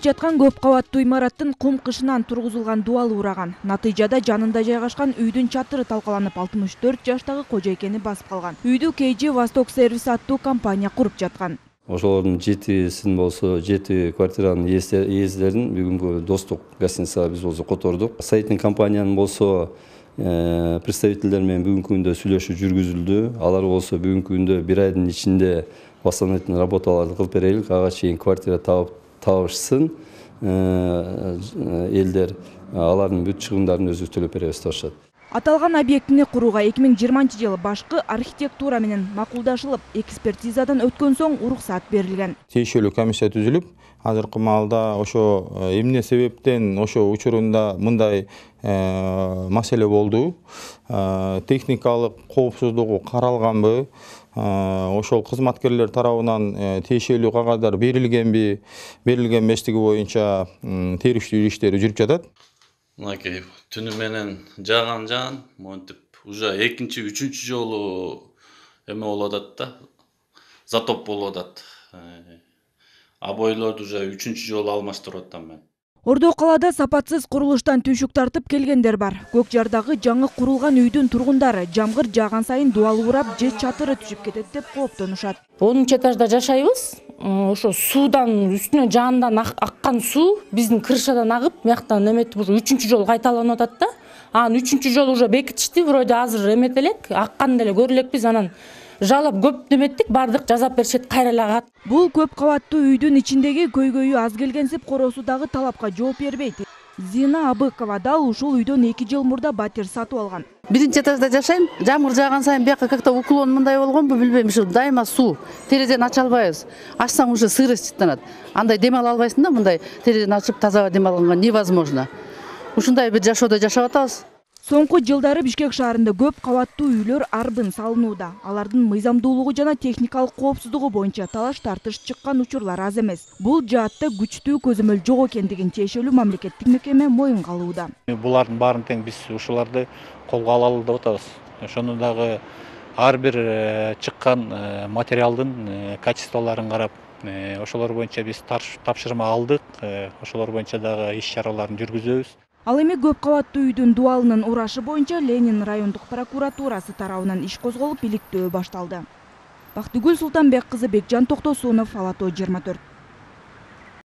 жаткан көп кабаттуу имараттын кум кышынан тургузулган дубалы ураган. Натыйжада жанында жайгашкан үйдүн чатыры талкаланып 64 жаштагы кожойкени басып калган. Үйдү KG Восток сервис аттуу компания куруп жаткан. Ошолордун 7син болсо 7 квартиранын ээзлерин бүгүнкү достук гостиницага биз болсо котордук. Сайттын компаниянын болсо представительдер менен бүгүнкү күндө сүйлөшүү жүргүзүлдү. Алар болсо бүгүнкү күндө 1 айдын ичинде восстановительный работаларды кылып берелик, ага чейин квартира табышсын. Элдер алардын бүт чыгымдарын өзүбүз төлөп беребиз деп атышат. Аталган объектини курууга 2020-жылы башкы архитектура менен макулдашылып, экспертизадан өткөн соң уруксат берилген. Тиешелүү комиссия түзүлүп, азыркы маалда ошо эмне себептен ошо учурунда мындай маселе болду, техникалык коопсуздугу каралганбы, ошол кызматкерлер тарабынан тиешелүү кагаздар берилгенби, берилген эместиги боюнча териштирүү иштери жүрүп жатат. Мынакей түнү менен жаган монтип уже экинчи, үчүнчү жолу эме болуп атат да, затоп болуп атат. Обойлорду уже үчүнчү жолу алмаштырып атам мен. Ордо калаада сапатсыз курулуштан түшүк тартып келгендер бар. Көкжардагы жаңы курулган үйдүн тургундары жамгыр жааган сайын дубалы урап, же чатыры түшүп кетет деп кооптонушат. 10 этажда жашайбыз. Ошо суудан үстүнө жаандан аккан суу биздин крышадан агып, мыяктан эметип уже 3-чү жолу кайталанып атат да. Анан 3-чү жолу уже бекитишти, вроде азыр эметелек, аккан деле көрөлекпиз, анан жалап көп неметтик, бардык жазап беришет, кайралагат. Бул көп кабаттуу үйдүн ичиндеги көйгөйү аз келгенсип короосу дагы талапка жооп бербейт. Зина Абыкова дал ушул үйдөн 2 жыл мурда батир сатып алган. 1-этажда жашайм. Жамгыр жааган сайын бияка как-то уклон мындай болгонбу билбейм, ушу дайыма суу. Терезени ача албайбыз. Ачсаң уже сырость чыттанат. Андай дем ала албайсың да, мындай терезени ачып таза дем алганга невозможно. Ушундай бир жашоодо жашап атабыз. Соңку жылдары Бишкек шаарында көп кабаттуу үйлөр арбын салынууда. Алардын мыйзамдуулугу жана техникалык коопсуздугу боюнча талаш-тартыш чыккан учурлар аз эмес. Бул жаатта күчтүү көзөмөл жок экендигин тиешелүү мамлекеттик мекеме моюнга алууда. Булардын баарын тең биз ушуларды колго алалы деп атабыз. Ошону дагы ар бир чыккан материалдын качестволорун карап, ошолор боюнча биз тапшырма алдык. Ошолор боюнча дагы иш-чараларын жүргүзөбүз. Ал эми көп кабаттуу үйдүн дубалынын урашы боюнча Ленин райондук прокуратурасы тарабынан иш козголуп, иликтөө башталды. Бактыгүл Султанбек кызы, Бекжан Токтосунов, Ала Тоо 24.